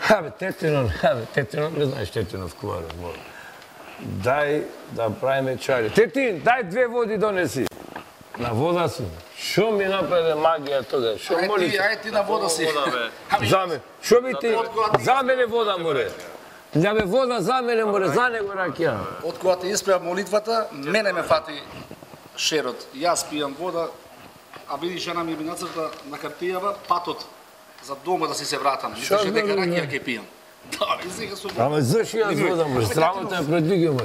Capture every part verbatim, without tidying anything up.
Абе, Тетинов, абе, Тетинов, не знаеш Тетинов Куваров, моля. Дај да правиме чари. Тетин, дај две води донеси. На вода си. Шо ми направи магија тога? Шо моли? Ајде ти на вода си. За мене. Шо би ти? За мене вода море. Да бе вода за мене море, за него ракија. Од кога те испреа молитвата, мене ме фати шерот. Јас пијам вода, а види жена ми ми нацрта на картијава патот за дома да си се вратам. Мислеше дека ракија ќе пијам. Да, и сега сум. Ама заши јас вода може, срамота ја предвигам.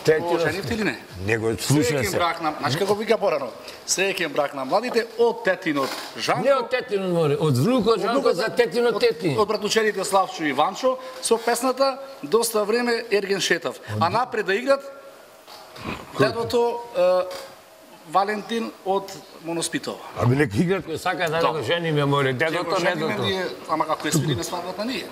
Тетинов, женив ти или не? Него слуша се. Брак на, знаеш како вика порано? Среќен брак на младите од Тетинот. Жанко. Не од Тетинот море, од внукот Жанко за Тетинот Тетин. Од братучерите Славчо и Ванчо со песната доста време Ерген Шетав. А напред да играт дедото Валентин од Моноспитова. Абе нека играт кој сака да го жениме море, дедото не дото. Ама како е свириме свадбата ние.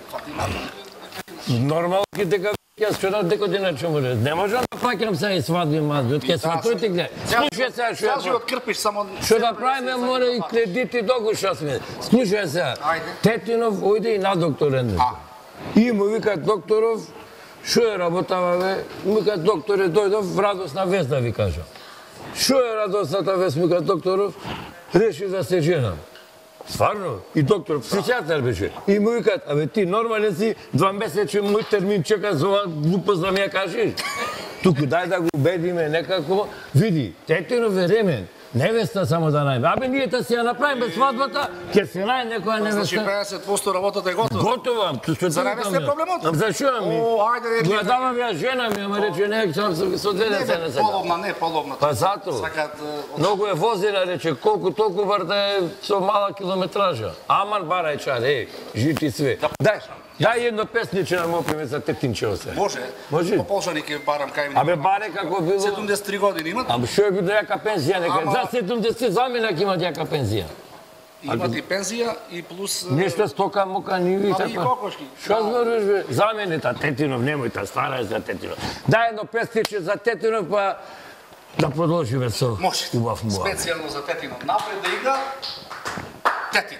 Нормално ки дека јас вчера дека деначе море. Не можам да паќам се и свадби мазби, од ке сватојте гле. Слушај се што ја. Од крпиш само што да правиме море и кредити догуша сме. Слушај се. Тетинов ојде и на докторен. И му викат докторов, што е работава бе? Му викат докторе дојдов, радосна вест да ви кажам. Шо е радосната вест, ми кај докторов? Реши да се женам. Стварно? И доктор, психијатар беше. И му викат, абе ти нормален си, два месече мој термин чека за ова глупост да ми ја кажеш. Туку дај да го убедиме некако. Види, Тетинов е ремен. Невеста само да најме. Абе ние да си ја направиме свадбата, ќе се најде некоја невеста. Значи педесет проценти работата е готова. Готова. За невеста е проблемот. За што ми? О, ајде рече. Го давам ја жена ми, ама рече не, сам со две деца не сега. Половна, не половна. Па зато. Сакат Многу е возила, рече, колку толку врта е со мала километража. Аман барај чар, е, жити све. Дај, дај едно песниче да му опиме за Тетинчево се. Може. Може. По Полшани ќе барам кај ми. Абе баре како било. седумдесет и три години имат. Ама што е било јака пензија нека. За седумдесет заменак имат јака пензија. Имат и пензија и плюс нешто стока, мука, ниви и така. И кокошки. Што зборуваш бе? Замени та Тетинов, немој та стара е за Тетинов. Дај едно песниче за Тетинов па да продолжиме со убав муа. Специјално за Тетинов. Напред да игра Тетин.